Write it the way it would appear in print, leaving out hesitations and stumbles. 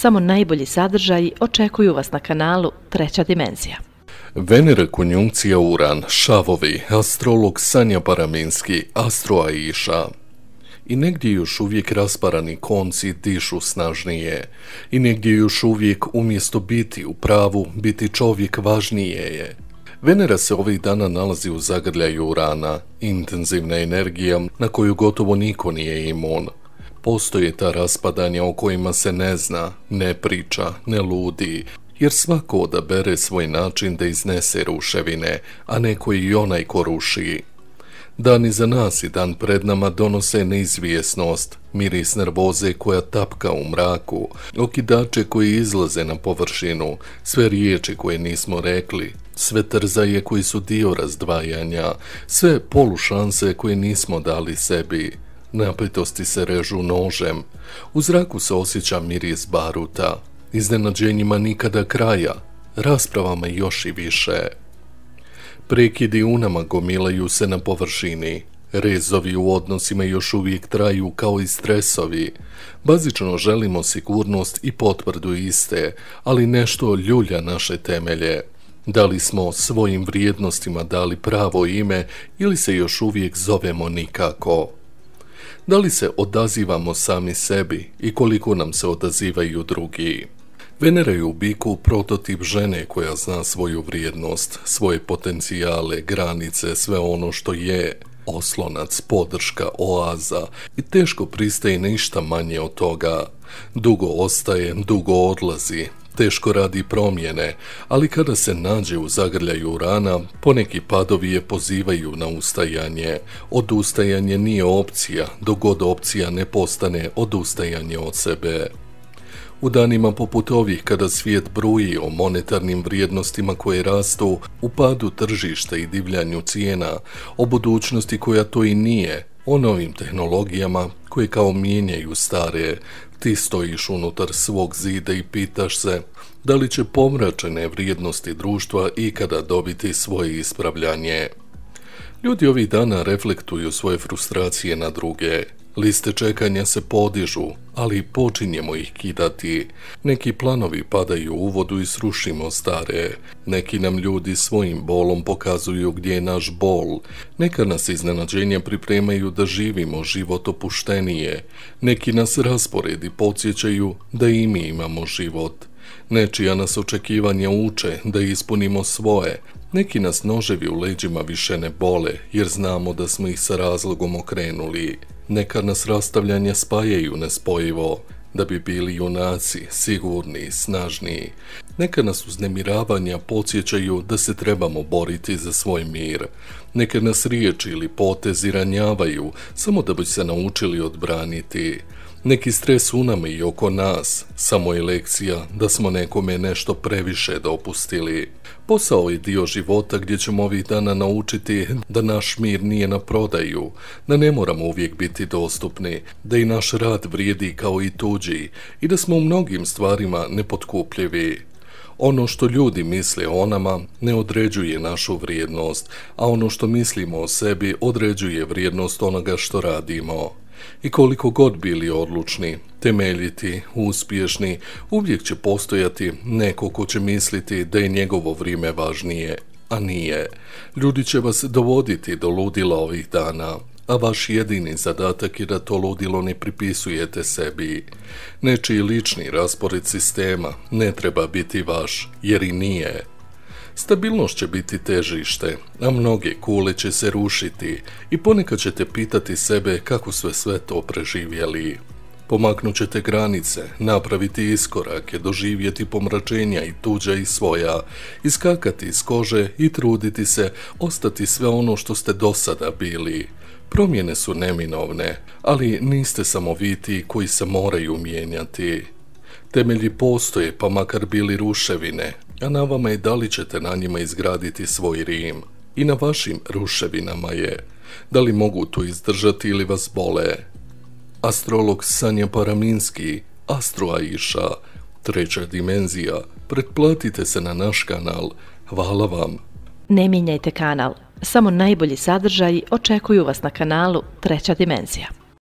Samo najbolji sadržaji očekuju vas na kanalu Treća dimenzija. Venera konjunkcija Uran, šavovi, astrolog Sanja Paraminski, Astro Aisha. I negdje još uvijek rasparani konci dišu snažnije. I negdje još uvijek umjesto biti u pravu, biti čovjek važnije je. Venera se ovih dana nalazi u zagrljaju Urana, intenzivna energija na koju gotovo niko nije imun. Postoje ta raspadanja o kojima se ne zna, ne priča, ne ludi, jer svako odabere svoj način da iznese ruševine, a neko i onaj ko ruši. Dan iza nas i dan pred nama donose neizvjesnost, miris nervoze koja tapka u mraku, okidače koji izlaze na površinu, sve riječi koje nismo rekli, sve trzaje koji su dio razdvajanja, sve polušanse koje nismo dali sebi. Napetosti se režu nožem, u zraku se osjeća miris baruta, iznenađenjima nikada kraja, raspravama još i više. Prekidi u nama gomilaju se na površini, rezovi u odnosima još uvijek traju kao i stresovi. Bazično želimo sigurnost i potvrdu iste, ali nešto ljulja naše temelje. Da li smo svojim vrijednostima dali pravo ime ili se još uvijek zovemo nikako? Da li se odazivamo sami sebi i koliko nam se odazivaju drugi? Venera je u biku prototip žene koja zna svoju vrijednost, svoje potencijale, granice, sve ono što je, oslonac, podrška, oaza i teško pristaje ništa manje od toga. Dugo ostaje, dugo odlazi, teško radi promjene, ali kada se nađe u zagrljaju Urana, poneki padovi je pozivaju na ustajanje. Odustajanje nije opcija, dok god opcija ne postane odustajanje od sebe. U danima poput ovih kada svijet bruji o monetarnim vrijednostima koje rastu, u padu tržišta i divljanju cijena, o budućnosti koja to i nije, o novim tehnologijama koje kao mijenjaju stare, ti stojiš unutar svog zida i pitaš se da li će pomračene vrijednosti društva ikada dobiti svoje ispravljanje. Ljudi ovih dana reflektuju svoje frustracije na druge. Liste čekanja se podižu, ali počinjemo ih kidati. Neki planovi padaju u vodu i srušimo stare. Neki nam ljudi svojim bolom pokazuju gdje je naš bol. Neka nas iznenađenja pripremaju da živimo život opuštenije. Neki nas rasporedi podsjećaju da i mi imamo život. Nečija nas očekivanja uče da ispunimo svoje. Neki nas noževi u leđima više ne bole, jer znamo da smo ih sa razlogom okrenuli. Neka nas rastavljanja spajaju nespojivo, da bi bili junaci, sigurni, snažniji. Neka nas uznemiravanja podsjećaju da se trebamo boriti za svoj mir. Neka nas riječi ili potezi ranjavaju, samo da bi se naučili odbraniti. Neki stres u nama i oko nas, samo je lekcija da smo nekome nešto previše dopustili. Posao je dio života gdje ćemo ovih dana naučiti da naš mir nije na prodaju, da ne moramo uvijek biti dostupni, da i naš rad vrijedi kao i tuđi i da smo u mnogim stvarima nepotkupljivi. Ono što ljudi misle o nama ne određuje našu vrijednost, a ono što mislimo o sebi određuje vrijednost onoga što radimo. I koliko god bili odlučni, temeljiti, uspješni, uvijek će postojati neko ko će misliti da je njegovo vrijeme važnije, a nije. Ljudi će vas dovoditi do ludila ovih dana, a vaš jedini zadatak je da to ludilo ne pripisujete sebi. Nečiji lični raspored sistema ne treba biti vaš, jer i nije. Stabilnost će biti težište, a mnoge kule će se rušiti i ponekad ćete pitati sebe kako sve to preživjeli. Pomaknut ćete granice, napraviti iskorake, doživjeti pomračenja i tuđa i svoja, iskakati iz kože i truditi se ostati sve ono što ste do sada bili. Promjene su neminovne, ali niste samo vi ti koji se moraju mijenjati. Temelji postoje, pa makar bili ruševine, a na vama je da li ćete na njima izgraditi svoj Rim. I na vašim ruševinama je, da li mogu to izdržati ili vas bole. Astrolog Sanja Paraminski, Astro Aisha, Treća dimenzija. Pretplatite se na naš kanal. Hvala vam. Ne mijenjajte kanal, samo najbolji sadržaji očekuju vas na kanalu Treća dimenzija.